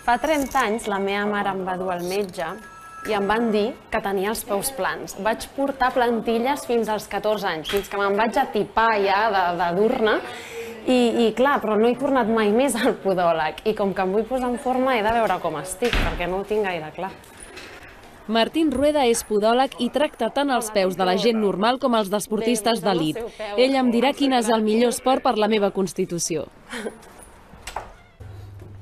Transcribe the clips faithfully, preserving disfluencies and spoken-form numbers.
Fa trenta anys la meva mare em va dur al metge i em van dir que tenia els peus plans. Vaig portar plantilles fins als catorze anys, fins que me'n vaig atipar ja de, de dur-ne. I, I clar, però no he tornat mai més al podòleg. I com que em vull posar en forma he de veure com estic, perquè no ho tinc gaire clar. Martín Rueda és podòleg i tracta tant els peus de la gent normal com els d'esportistes d'elit. Ell em dirà quin és el millor esport per la meva constitució.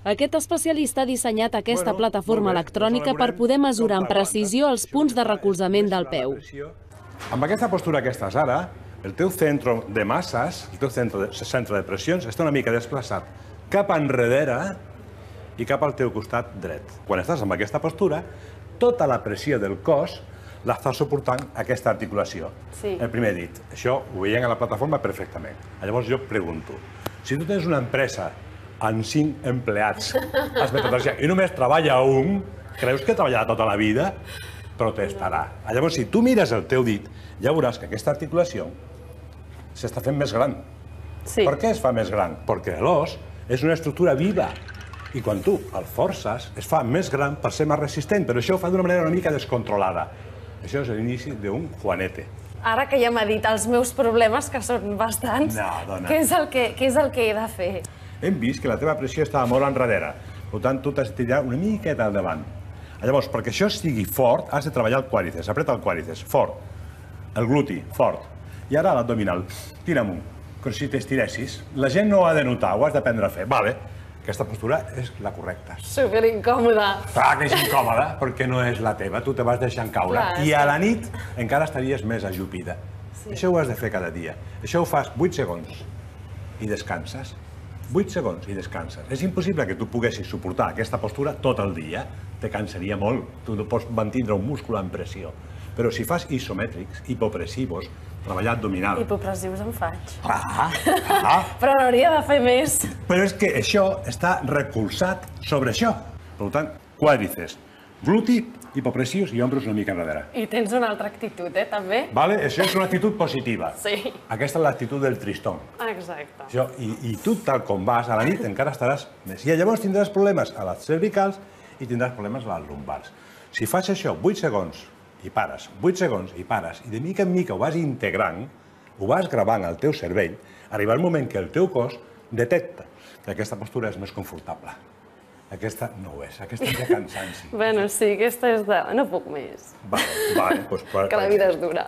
Aquest especialista ha dissenyat aquesta plataforma electrònica per poder mesurar amb precisió els punts de recolzament del peu. Amb aquesta postura que estàs ara, el teu centre de masses, el teu centre de, centre de pressions, està una mica desplaçat cap enrere i cap al teu costat dret. Quan estàs amb aquesta postura, tota la pressió del cos l'està suportant aquesta articulació. Sí. El primer dit. Això ho veiem a la plataforma perfectament. Llavors jo pregunto, si tu tens una empresa amb cinc empleats i només treballa un, creus que treballarà tota la vida? Protestarà. Llavors, si tu mires el teu dit, ja veuràs que aquesta articulació s'està fent més gran. Sí. Per què es fa més gran? Perquè l'os és una estructura viva i quan tu el forces es fa més gran per ser més resistent, però això ho fa d'una manera una mica descontrolada. Això és l'inici d'un juanete. Ara que ja m'ha dit els meus problemes, que són bastants, No, dona. què és el que, què és el que he de fer? Hem vist que la teva pressió estava molt enrere. Per tant, tu t'has de tirar una miqueta al davant. Llavors, perquè això sigui fort, has de treballar el quàdriceps. Apreta el quàdriceps, fort. El gluti, fort. I ara l'abdominal. Tira amunt, com si t'estiressis. La gent no ho ha de notar, ho has d'aprendre a fer. Vale, aquesta postura és la correcta. Super incòmoda. Clar que és incòmoda, perquè no és la teva. Tu te vas deixant caure. Clar, I a la nit encara estaries més ajupida. Això ho has de fer cada dia. Això ho fas vuit segons i descanses. vuit segons i descanses. És impossible que tu poguessis suportar aquesta postura tot el dia. Te cansaria molt. Tu no pots mantindre un múscul en pressió. Però si fas isomètrics, hipopressivos, treballar abdominal... Hipopressius en faig. Ah, ah. Però n'hauria de fer més. Però és que això està recolzat sobre això. Per tant, quàdriceps, gluti, hipopressius i ombros una mica enrere. I tens una altra actitud, eh, també? Vale? Això és una actitud positiva. Sí. Aquesta és l'actitud del tristón. Exacte. Això, i, I tu, tal com vas, a la nit encara estaràs més. I llavors tindràs problemes a les cervicals i tindràs problemes a les lumbars. Si fas això vuit segons i pares, vuit segons i pares, i de mica en mica ho vas integrant, ho vas gravant al teu cervell, arribarà un moment que el teu cos detecta que aquesta postura és més confortable. Aquesta no ho és, aquesta és de cansanci. Bueno, sí, aquesta és de... no puc més. Vale, vale, doncs... Que la vida és dura.